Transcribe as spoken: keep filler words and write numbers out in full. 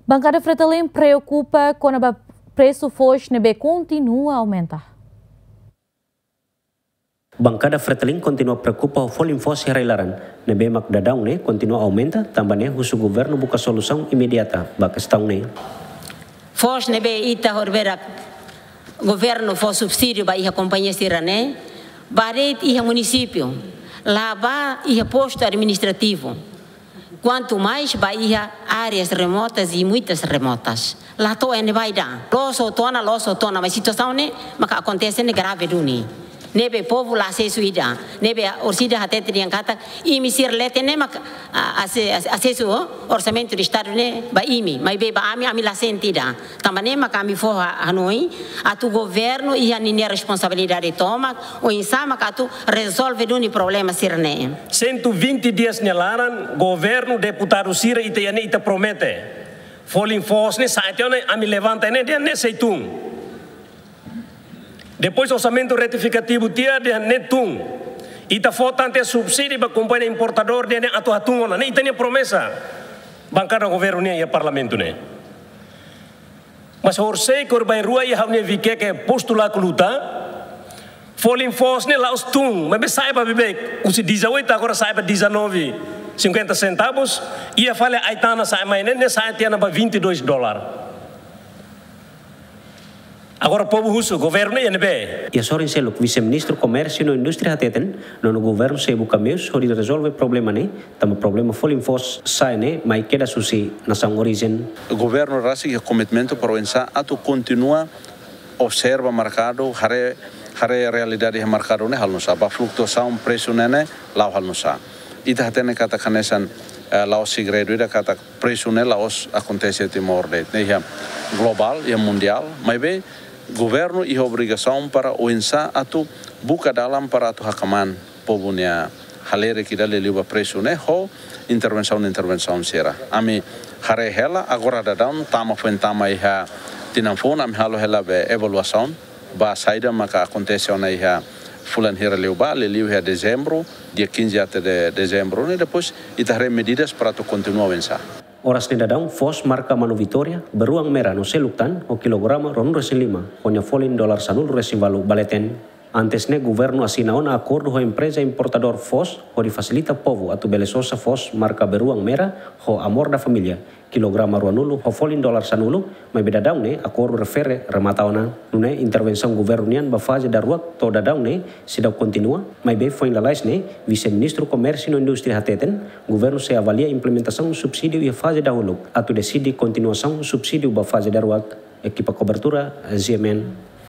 Bankada Fretilin preokupa kona-ba presu foos ne'ebé kontinua aumenta. Bankada Fretilin kontinua preokupa ho folin foos iha rai-laran ne'ebé mak daudaun ne'e kontinua aumenta, tanba ne'e husu governu buka solusaun imediata ba kestaun ne'e. Foos ne'ebé ita horiberak governu fó subsídiu ba iha kompañia sira-ne'e, ba de'it iha munisípiu, la ba iha postu administrativu. Kuantu mais ba iha áreas remotas e muitas remotas. La to'o iha ne'ebá ida. Loos hotu ona, loos hotu ona, mas situasaun ne'e maka akontese ne'e grave duni. Ne'ebé povu la asesu ida. Ne'ebé orsida hatete dehan katak imi sira leten ne'e maka, a, ase-, ase-, asesu, o, orsamentu de Estadu ne'e ba imi. Maibé ba ami, ami la sente ida. Tanba ne'e maka ami fó ha-, hanoin atu governu iha ninia responsabilidade tomak, oinsá maka atu rezolve duni problema sira-ne'e. Cento e vinte dias nia laran, governu, deputadu sira, ita iha ne'e ita promete. Folin foos ne'e sa'e tiha ona, ami levanta ne'e, dehan ne'e sei tun. Depois orsamentu retifikativu tiha, dehan ne'e tun. Ita fó tan tiha subsídiu ba kompañia importadór, dehan ne'e atu hatun ona. Ne'e ita-nia promesa. Bankada governu nian iha parlamentu ne'e. Mas horisehik horibainrua iha ha'u-nia Vikeke postu Laku Luta, folin foos ne'e la'ós tun, maibé sa'e ba beibeik, husi dezoito agora sa'e ba dezanove cinquenta centavos, iha fali Aitana sa'e mai ne'e, ne'e sa'e tiha ona ba vinte e dois dólar. Agora povu husu, governu iha ne'ebé? Iha sorin seluk, Vise-Ministru Komérsiu no Indústria hateten, nonu governu sei buka meius hodi rezolve problema ne'e, tanba problema folin foos sa'e ne'e mai kedas husi nasaun orijen. Governu rasik iha komitmentu para oinsá atu kontinua observa merkadu, haree, haree realidade iha merkadu ne'e halo nu'usá, ba flutuasaun presu ne'e ne'e la'o halo nu'usá. Ita hatene katak hanesan, eh, la'ós segredu ida katak presu ne'e la'ós akontese Timor de'it, ne'e iha globál, iha mundiál, maibé governu iha obrigasaun para oinsá atu buka dalan para atu hakmaan povu nia halerik ida liuliu ba presu ne'e ho intervensaun, intervensaun sira. Ami haree hela agora daudaun tama foin tama iha tinan foun, ami halo hela be evaluasaun ba saida maka akontese ona iha fulan hira liubá, liuliu iha dezembru, dia quinze até de dezembru ne'e, depois ita haree medidas para atu kontinua oinsá. Oras ne'e daudaun foos marka Manu Vitória, beruang mera no seluk tan, ho kilograma ruanulu-resin-lima, ho nia folin dolar sanulu-resin-ualu ba leten. Antes ne'e governu asina ona akordu ho empreza importadór foos hodi fasilita povu atu bele sosa foos marka beruang mera ho Amor da Família, kilograma ruanulu ho folin dolar sanulu, maibé daudaun ne'e akordu refere remata ona. Nune'e intervensaun governu nian ba faze daruak to'o daudaun ne'e seidauk kontinua, maibé foin lalais ne'e, Vise-Ministru Komérsiu no Indústria hateten, governu sei avalia implementasaun subsídiu iha faze dahuluk, atu deside kontinuasaun subsídiu ba faze daruak. Ekipa kobertura, Z M N.